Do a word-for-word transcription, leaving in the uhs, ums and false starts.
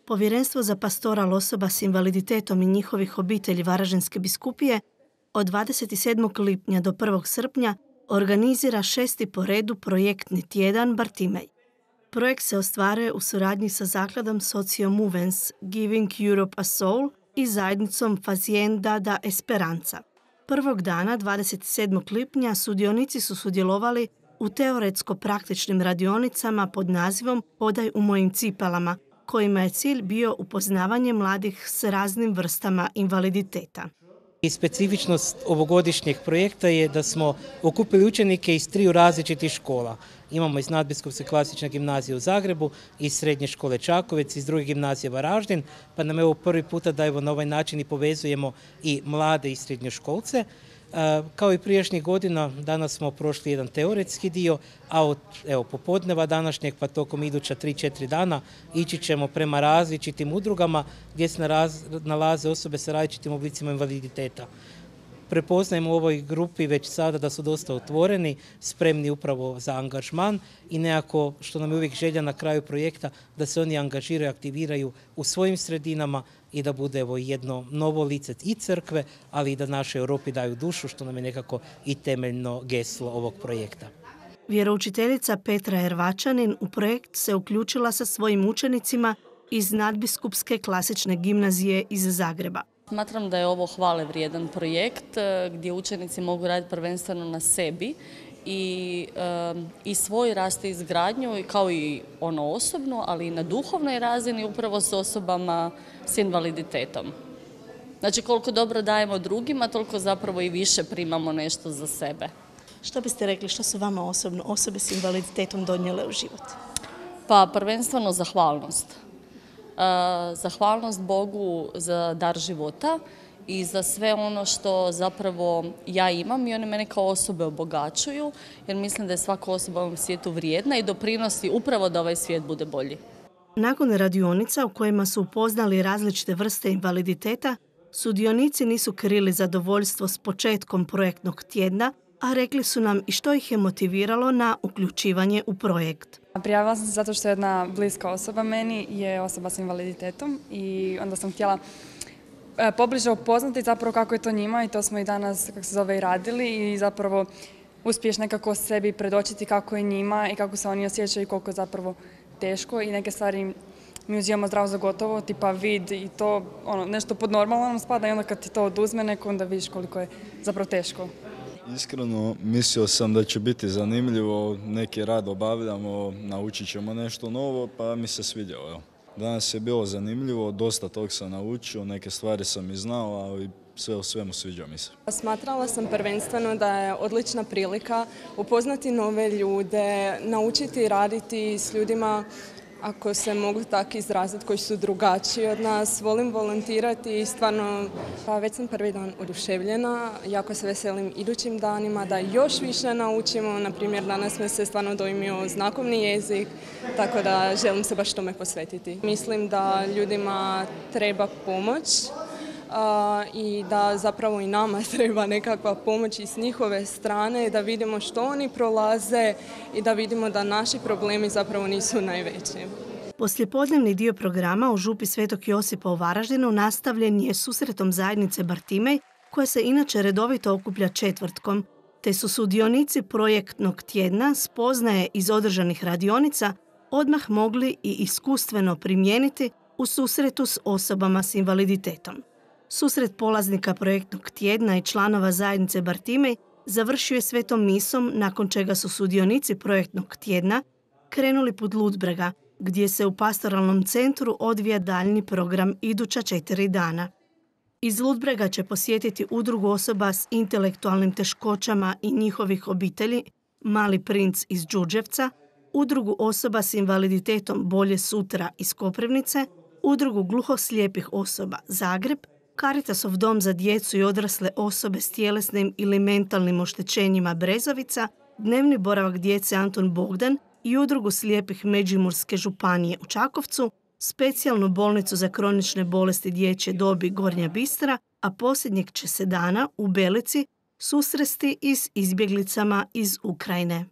Povjerenstvo za pastoral osoba s invaliditetom i njihovih obitelji Varaždinske biskupije od dvadeset sedmog lipnja do prvog srpnja organizira šesti po redu projektni tjedan Bartimej. Projekt se ostvaruje u suradnji sa zakladom Socio Movens Giving Europe a Soul i zajednicom Fazienda da Esperanza. Prvog dana, dvadeset sedmog lipnja, sudionici su sudjelovali u teoretsko-praktičnim radionicama pod nazivom Hodaj u mojim cipelama, kojima je cilj bio upoznavanje mladih s raznim vrstama invaliditeta. I specifičnost ovogodišnjeg projekta je da smo okupili učenike iz triju različitih škola. Imamo iz Nadbiskupske klasične gimnazije u Zagrebu, iz Srednje škole Čakovec, iz druge gimnazije Varaždin, pa nam je ovo prvi puta da evo na ovaj način i povezujemo i mlade i srednjoškolce. Kao i prijašnjih godina, danas smo prošli jedan teoretski dio, a od evo, popodneva današnjeg pa tokom iduća tri četiri dana ići ćemo prema različitim udrugama gdje se nalaze osobe sa različitim oblicima invaliditeta. Prepoznajemo u ovoj grupi već sada da su dosta otvoreni, spremni upravo za angažman i nekako, što nam je uvijek želja na kraju projekta, da se oni angažiraju, aktiviraju u svojim sredinama i da bude evo jedno novo lice i crkve, ali i da našoj Europi daju dušu, što nam je nekako i temeljno geslo ovog projekta. Vjeroučiteljica Petra Ervačanin u projekt se uključila sa svojim učenicima iz Nadbiskupske klasične gimnazije iz Zagreba. Smatram da je ovo hvale vrijedan projekt gdje učenici mogu raditi prvenstveno na sebi i, i svoj rast i izgradnju, kao i ono osobno, ali i na duhovnoj razini upravo s osobama s invaliditetom. Znači koliko dobro dajemo drugima, toliko zapravo i više primamo nešto za sebe. Što biste rekli, što su vama osobno osobe s invaliditetom donijele u život? Pa prvenstveno zahvalnost. Zahvalnost Bogu za dar života i za sve ono što zapravo ja imam i one mene kao osobe obogaćuju, jer mislim da je svaka osoba u ovom svijetu vrijedna i doprinosi upravo da ovaj svijet bude bolji. Nakon radionica u kojima su upoznali različite vrste invaliditeta, sudionici nisu krili zadovoljstvo s početkom projektnog tjedna, a rekli su nam i što ih je motiviralo na uključivanje u projekt. Prijavila sam se zato što jedna bliska osoba meni je osoba s invaliditetom i onda sam htjela pobliže upoznati zapravo kako je to njima i to smo i danas, kako se zove, i radili i zapravo uspiješ nekako sebi predočiti kako je njima i kako se oni osjećaju i koliko je zapravo teško i neke stvari mi uzimamo zdravo za gotovo, tipa vid i to ono, nešto pod normalno nam spada i onda kad ti to oduzme neko onda vidiš koliko je zapravo teško. Iskreno mislio sam da će biti zanimljivo, neki rad obavljamo, naučit ćemo nešto novo, pa mi se svidjelo. Evo. Danas je bilo zanimljivo, dosta tog sam naučio, neke stvari sam i znao, ali sve u svemu sviđa mi se. Smatrala sam prvenstveno da je odlična prilika upoznati nove ljude, naučiti raditi s ljudima, ako se mogu tako izraziti, koji su drugačiji od nas. Volim volontirati i stvarno, pa već sam prvi dan oduševljena. Jako se veselim idućim danima da još više naučimo. Na primjer, danas me se stvarno dojmio znakovni jezik, tako da želim se baš tome posvetiti. Mislim da ljudima treba pomoć uh, i da zapravo i nama treba nekakva pomoć i s njihove strane, da vidimo što oni prolaze i da vidimo da naši problemi zapravo nisu najveći. Poslijepodnevni dio programa u župi Svetog Josipa u Varaždinu nastavljen je susretom zajednice Bartimej, koja se inače redovito okuplja četvrtkom, te su sudionici projektnog tjedna spoznaje iz održanih radionica odmah mogli i iskustveno primijeniti u susretu s osobama s invaliditetom. Susret polaznika projektnog tjedna i članova zajednice Bartimej završio je svetom misom, nakon čega su sudionici projektnog tjedna krenuli put Ludbrega, gdje se u pastoralnom centru odvija daljnji program iduća četiri dana. Iz Ludbrega će posjetiti udrugu osoba s intelektualnim teškoćama i njihovih obitelji Mali princ iz Đurđevca, udrugu osoba s invaliditetom Bolje sutra iz Koprivnice, udrugu gluhoslijepih osoba Zagreb, Caritasov dom za djecu i odrasle osobe s tjelesnim ili mentalnim oštećenjima Brezovica, dnevni boravak djece Anton Bogdan i udrugu slijepih Međimurske županije u Čakovcu, specijalnu bolnicu za kronične bolesti dječje dobi Gornja Bistra, a posljednjeg će se dana u Belici susresti i s izbjeglicama iz Ukrajine.